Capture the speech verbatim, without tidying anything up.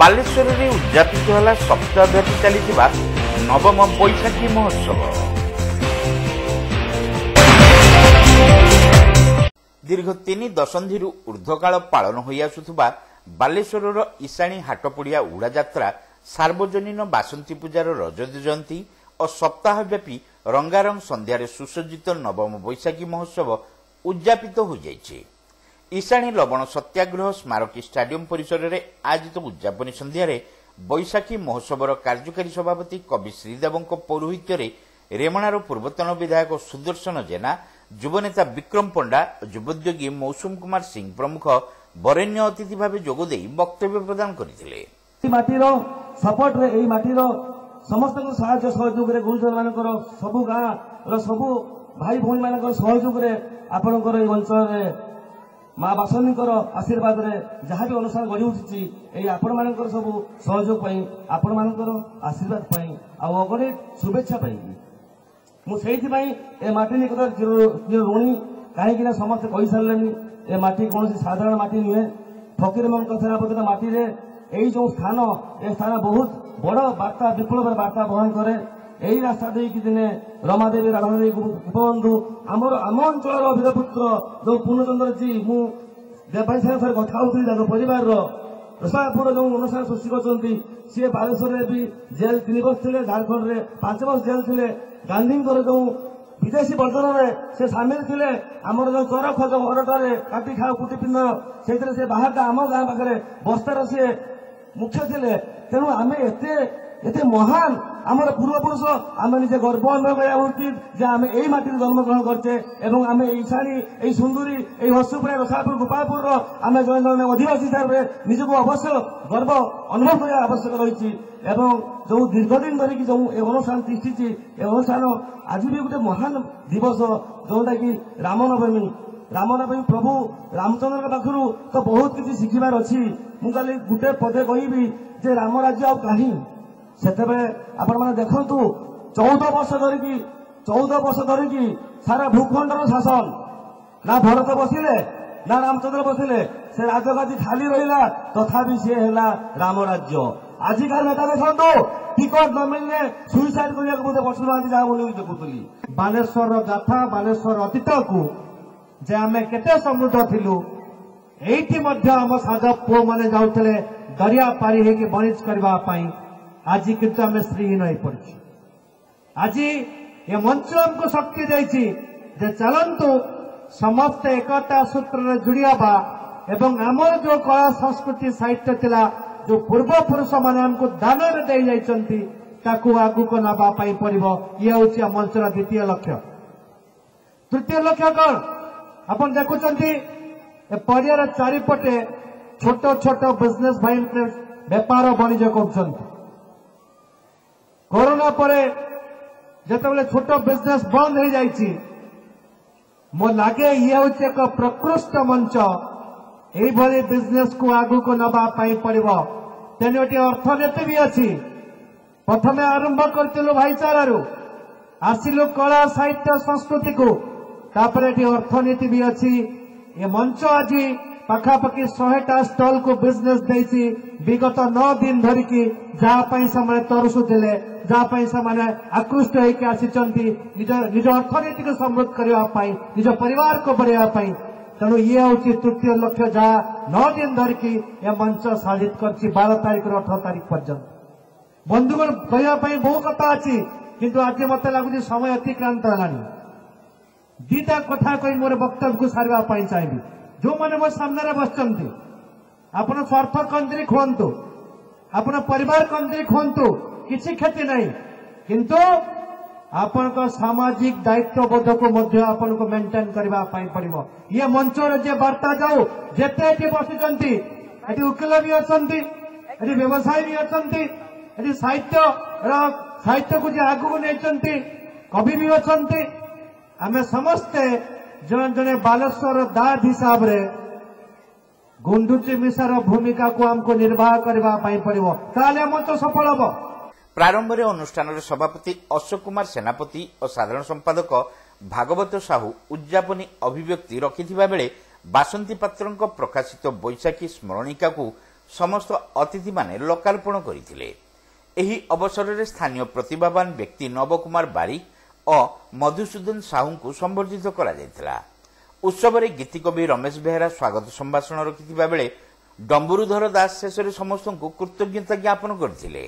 ବାଲେଶ୍ୱରରେ ଉଦଯାପିତ ହେଲା ସପ୍ତାହବ୍ୟାପୀ ଚାଲିଥିବା ନବମ ବୈଶାଖୀ ମହୋତ୍ସବ। ଦୀର୍ଘ ତିନି ଦଶନ୍ଧିରୁ ଊର୍ଦ୍ଧ୍ୱକାଳ ପାଳନ ହୋଇଆସୁଥିବା ବାଲେଶ୍ୱରର ଇଶାଣୀ ହାଟପଡ଼ିଆ ଉଡ଼ାଯାତ୍ରା ସାର୍ବଜନୀନ ବାସନ୍ତୀ ପୂଜାର ରଜତ ଜୟନ୍ତୀ ଓ ସପ୍ତାହବ୍ୟାପୀ ରଙ୍ଗାରଙ୍ଗ ସନ୍ଧ୍ୟାରେ ସୁସଜ୍ଜିତ ନବମ ବୈଶାଖୀ ମହୋତ୍ସବ ଉଦଯାପିତ ହୋଇଯାଇଛି। ଇଶାଣୀ ଲବଣ ସତ୍ୟାଗ୍ରହ ସ୍ମାରକୀ ଷ୍ଟାଡିୟମ ପରିସରରେ ଆୟୋଜିତ ଉଦଯାପନୀ ସନ୍ଧ୍ୟାରେ ବୈଶାଖୀ ମହୋତ୍ସବର କାର୍ଯ୍ୟକାରୀ ସଭାପତି କବି ଶ୍ରୀଦେବଙ୍କ ପୌରୋହିତ୍ୟରେ ରେମଣାର ପୂର୍ବତନ ବିଧାୟକ ସୁଦର୍ଶନ ଜେନା, ଯୁବନେତା ବିକ୍ରମ ପଣ୍ଡା, ଯୁବୋଦ୍ୟୋଗୀ ମୌସୁମ କୁମାର ସିଂ ପ୍ରମୁଖ ବରେଣ୍ୟ ଅତିଥି ଭାବେ ଯୋଗଦେଇ ବକ୍ତବ୍ୟ ପ୍ରଦାନ କରିଥିଲେ। ମାଟିର ସପୋର୍ଟରେ, ଏଇ ମାଟିର ସମସ୍ତଙ୍କ ସାହାଯ୍ୟ ସହଯୋଗରେ, ଗୁରୁଜନମାନଙ୍କର, ସବୁ ଗାଁର ସବୁ ଭାଇ ଭଉଣୀମାନଙ୍କର ସହଯୋଗରେ, ଆପଣଙ୍କର ଏଇ ଅଞ୍ଚଳରେ ମା ବାସନ୍ତୀଙ୍କର ଆଶୀର୍ବାଦରେ ଯାହା ବି ଅନୁଷ୍ଠାନ ଗଢ଼ି ଉଠିଛି, ଏଇ ଆପଣମାନଙ୍କର ସବୁ ସହଯୋଗ ପାଇଁ, ଆପଣମାନଙ୍କର ଆଶୀର୍ବାଦ ପାଇଁ ଆଉ ଅଗଣିତ ଶୁଭେଚ୍ଛା ପାଇଁ ମୁଁ ସେଇଥିପାଇଁ ଏ ମାଟି ନିକଟରେ ଚିର ଋଣୀ। କାହିଁକିନା ସମସ୍ତେ କହିସାରିଲେଣି, ଏ ମାଟି କୌଣସି ସାଧାରଣ ମାଟି ନୁହେଁ। ଫକୀରମୋହନଙ୍କ ସେନାପତିର ମାଟିରେ ଏଇ ଯୋଉ ସ୍ଥାନ, ଏ ସ୍ଥାନ ବହୁତ ବଡ଼ ବାର୍ତ୍ତା, ବିପ୍ଳବର ବାର୍ତ୍ତା ବହନ କରେ। ଏଇ ରାସ୍ତା ଦେଇକି ଦିନେ ରମାଦେବୀ, ରାଧାଦେବୀ, ଗୋପବନ୍ଧୁ, ଆମର ଆମ ଅଞ୍ଚଳର ବୀରପୁତ୍ର ଯୋଉ ପୂର୍ଣ୍ଣଚନ୍ଦ୍ରଜୀ, ମୁଁ ଦେବାଇ ସାଙ୍ଗେ ଥରେ କଥା ହଉଥିଲି, ତାଙ୍କ ପରିବାରର ରସାପୁର ଯୋଉ ଅନୁଷ୍ଠାନ ସୃଷ୍ଟି କରିଛନ୍ତି, ସିଏ ବାଲେଶ୍ୱରରେ ବି ଜେଲ୍ ତିନି ବର୍ଷ ଥିଲେ, ଝାଡ଼ଖଣ୍ଡରେ ପାଞ୍ଚ ବର୍ଷ ଜେଲ୍ ଥିଲେ। ଗାନ୍ଧୀଙ୍କର ଯୋଉ ବିଦେଶୀ ବର୍ଜନରେ ସେ ସାମିଲ ଥିଲେ। ଆମର ଯୋଉ ଚରଖ, ଯୋଉ ଅରଟରେ କାଟି ଖାଅ କୁଟି ପିନ୍ଧ, ସେଇଥିରେ ସେ ବାହାରଟା ଆମ ଗାଁ ପାଖରେ ବସ୍ତାର ସିଏ ମୁଖ୍ୟ ଥିଲେ। ତେଣୁ ଆମେ ଏତେ ଏତେ ମହାନ ଆମର ପୂର୍ବପୁରୁଷ, ଆମେ ନିଜେ ଗର୍ବ ଅନୁଭବ କରିବା ଉଚିତ ଯେ ଆମେ ଏଇ ମାଟିରେ ଜନ୍ମଗ୍ରହଣ କରିଛେ ଏବଂ ଆମେ ଏଇ ଇଶାଣୀ, ଏଇ ସୁନ୍ଦୁରୀ, ଏଇ ହସୁପୁରା, ରସାପୁର, ଗୋପାଳପୁରର ଆମେ ଜଣେ ଜଣେ ଅଧିବାସୀ ହିସାବରେ ନିଜକୁ ଅବଶ୍ୟ ଗର୍ବ ଅନୁଭବ କରିବା ଆବଶ୍ୟକ ରହିଛି। ଏବଂ ଯୋଉ ଦୀର୍ଘଦିନ ଧରିକି ଯୋଉ ଏ ଅନୁଷ୍ଠାନ ତିଷ୍ଠିଛି, ଏ ଅନୁଷ୍ଠାନ ଆଜି ବି ଗୋଟେ ମହାନ ଦିବସ, ଯୋଉଟାକି ରାମନବମୀ। ରାମନବମୀ ପ୍ରଭୁ ରାମଚନ୍ଦ୍ରଙ୍କ ପାଖରୁ ତ ବହୁତ କିଛି ଶିଖିବାର ଅଛି। ମୁଁ ଖାଲି ଗୋଟେ ପଦେ କହିବି ଯେ ରାମ ରାଜ୍ୟ ଆଉ କାହିଁ? ସେତେବେଳେ ଆପଣମାନେ ଦେଖନ୍ତୁ, ଚଉଦ ବର୍ଷ ଧରିକି, ଚଉଦ ବର୍ଷ ଧରିକି ସାରା ଭୂଖଣ୍ଡର ଶାସନ, ନା ଭରତ ବସିଲେ ନା ରାମଚନ୍ଦ୍ର ବସିଲେ, ସେ ରାଜଗାଦି ଖାଲି ରହିଲା, ତଥାପି ସିଏ ହେଲା ରାମ ରାଜ୍ୟ। ଆଜିକାଲି ନେତା ଦେଖନ୍ତୁ, ଟିକଟ ନ ମିଳିଲେ ସୁଇସାଇଡ କରିବାକୁ ମଧ୍ୟ ବସୁନାହାନ୍ତି, ଯାହା ମୁଁ ନ୍ୟୁଜ୍ ଦେଖୁଥିଲି। ବାଲେଶ୍ୱରର ଗାଥା, ବାଲେଶ୍ୱର ଅତୀତକୁ ଯେ ଆମେ କେତେ ସମୃଦ୍ଧ ଥିଲୁ, ଏଇଠି ମଧ୍ୟ ଆମ ସାଜ ପୁଅମାନେ ଯାଉଥିଲେ ଦରିଆ ପାରି ହେଇକି ବଣିଜ କରିବା ପାଇଁ। ଆଜି କିନ୍ତୁ ଆମେ ଶ୍ରୀହୀନ ହେଇପଡ଼ିଛୁ। ଆଜି ଏ ମଞ୍ଚ ଆମକୁ ଶକ୍ତି ଦେଇଛି ଯେ ଚାଲନ୍ତୁ ସମସ୍ତେ ଏକତା ସୂତ୍ରରେ ଯୋଡ଼ି ହେବା ଏବଂ ଆମର ଯୋଉ କଳା, ସଂସ୍କୃତି, ସାହିତ୍ୟ ଥିଲା, ଯୋଉ ପୂର୍ବପୁରୁଷମାନେ ଆମକୁ ଦାନରେ ଦେଇ ଯାଇଛନ୍ତି, ତାକୁ ଆଗକୁ ନେବା ପାଇଁ ପଡ଼ିବ। ଇଏ ହେଉଛି ଆମ ମଞ୍ଚର ଦ୍ୱିତୀୟ ଲକ୍ଷ୍ୟ। ତୃତୀୟ ଲକ୍ଷ୍ୟ କଣ? ଆପଣ ଦେଖୁଛନ୍ତି ଏ ପଡ଼ିଆର ଚାରିପଟେ ଛୋଟ ଛୋଟ ବିଜନେସ ଭାଇ ବେପାର ବାଣିଜ୍ୟ କରୁଛନ୍ତି। କରୋନା ପରେ ଯେତେବେଳେ ଛୋଟ ବିଜନେସ ବନ୍ଦ ହେଇଯାଇଛି, ମୋ ଲାଗେ ଇଏ ହେଉଛି ଏକ ପ୍ରକୃଷ୍ଟ ମଞ୍ଚ। ଏଇଭଳି ବିଜନେସକୁ ଆଗକୁ ନେବା ପାଇଁ ପଡ଼ିବ। ତେଣୁ ଏଠି ଅର୍ଥନୀତି ବି ଅଛି। ପ୍ରଥମେ ଆରମ୍ଭ କରିଥିଲୁ ଭାଇଚାରାରୁ, ଆସିଲୁ କଳା, ସାହିତ୍ୟ, ସଂସ୍କୃତିକୁ, ତାପରେ ଏଠି ଅର୍ଥନୀତି ବି ଅଛି। ଏ ମଞ୍ଚ ଆଜି ପାଖାପାଖି ଶହେଟା ଷ୍ଟଲକୁ ବିଜନେସ ଦେଇଛି ବିଗତ ନଅ ଦିନ ଧରିକି, ଯାହା ପାଇଁ ସେମାନେ ତରସୁଥିଲେ, ଯାହା ପାଇଁ ସେମାନେ ଆକୃଷ୍ଟ ହେଇକି ଆସିଛନ୍ତି ନିଜ ନିଜ ଅର୍ଥନୀତିକୁ ସମୃଦ୍ଧ କରିବା ପାଇଁ, ନିଜ ପରିବାରକୁ ବଢ଼େଇବା ପାଇଁ। ତେଣୁ ଇଏ ହେଉଛି ତୃତୀୟ ଲକ୍ଷ୍ୟ, ଯାହା ନଅ ଦିନ ଧରିକି ଏ ମଞ୍ଚ ସାଧିତ କରିଛି ବାର ତାରିଖରୁ ଅଠର ତାରିଖ ପର୍ଯ୍ୟନ୍ତ। ବନ୍ଧୁଗଣ, କହିବା ପାଇଁ ବହୁ କଥା ଅଛି, କିନ୍ତୁ ଆଜି ମତେ ଲାଗୁଛି ସମୟ ଅତିକ୍ରାନ୍ତ ହେଲାଣି। ଦିଟା କଥା କହି ମୋର ବକ୍ତବ୍ୟକୁ ସାରିବା ପାଇଁ ଚାହିଁବି। ଯୋଉମାନେ ମୋ ସାମ୍ନାରେ ବସିଛନ୍ତି, ଆପଣ ସ୍ୱାର୍ଥ କେନ୍ଦ୍ରିକ ହୁଅନ୍ତୁ, ଆପଣ ପରିବାର କେନ୍ଦ୍ରିକ ହୁଅନ୍ତୁ, କିଛି କ୍ଷତି ନାହିଁ, କିନ୍ତୁ ଆପଣଙ୍କ ସାମାଜିକ ଦାୟିତ୍ୱବୋଧକୁ ମଧ୍ୟ ଆପଣଙ୍କୁ ମେଣ୍ଟେନ କରିବା ପାଇଁ ପଡ଼ିବ। ଇଏ ମଞ୍ଚର ଯେ ବାର୍ତ୍ତା ଯାଉ, ଯେତେ ଏଠି ବସିଛନ୍ତି, ଏଠି ଓକିଲ ବି ଅଛନ୍ତି, ଏଠି ବ୍ୟବସାୟୀ ବି ଅଛନ୍ତି, ଏଠି ସାହିତ୍ୟର ସାହିତ୍ୟକୁ ଯେ ଆଗକୁ ନେଇଛନ୍ତି କବି ବି ଅଛନ୍ତି, ଆମେ ସମସ୍ତେ ଜଣେ ଜଣେ ବାଲେଶ୍ୱର ଦାଦ ହିସାବରେ ଗୁଣ୍ଡୁଚି ମିଶାର ଭୂମିକାକୁ ଆମକୁ ନିର୍ବାହ କରିବା ପାଇଁ ପଡ଼ିବ, ତାହେଲେ ମଞ୍ଚ ସଫଳ ହେବ। ପ୍ରାରମ୍ଭରେ ଅନୁଷ୍ଠାନର ସଭାପତି ଅଶୋକ କୁମାର ସେନାପତି ଓ ସାଧାରଣ ସମ୍ପାଦକ ଭାଗବତ ସାହୁ ଉଦଯାପନୀ ଅଭିବ୍ୟକ୍ତି ରଖିଥିବା ବେଳେ ବାସନ୍ତୀ ପାତ୍ରଙ୍କ ପ୍ରକାଶିତ ବୈଶାଖୀ ସ୍ମରଣିକାକୁ ସମସ୍ତ ଅତିଥିମାନେ ଲୋକାର୍ପଣ କରିଥିଲେ। ଏହି ଅବସରରେ ସ୍ଥାନୀୟ ପ୍ରତିଭାବାନ ବ୍ୟକ୍ତି ନବକୁମାର ବାରିକ ଓ ମଧୁସୂଦନ ସାହୁଙ୍କୁ ସମ୍ବର୍ଦ୍ଧିତ କରାଯାଇଥିଲା। ଉତ୍ସବରେ ଗୀତିକବି ରମେଶ ବେହେରା ସ୍ୱାଗତ ସମ୍ଭାଷଣ ରଖିଥିବା ବେଳେ ଡମ୍ବୁରୁଧର ଦାସ ଶେଷରେ ସମସ୍ତଙ୍କୁ କୃତଜ୍ଞତା ଜ୍ଞାପନ କରିଥିଲେ।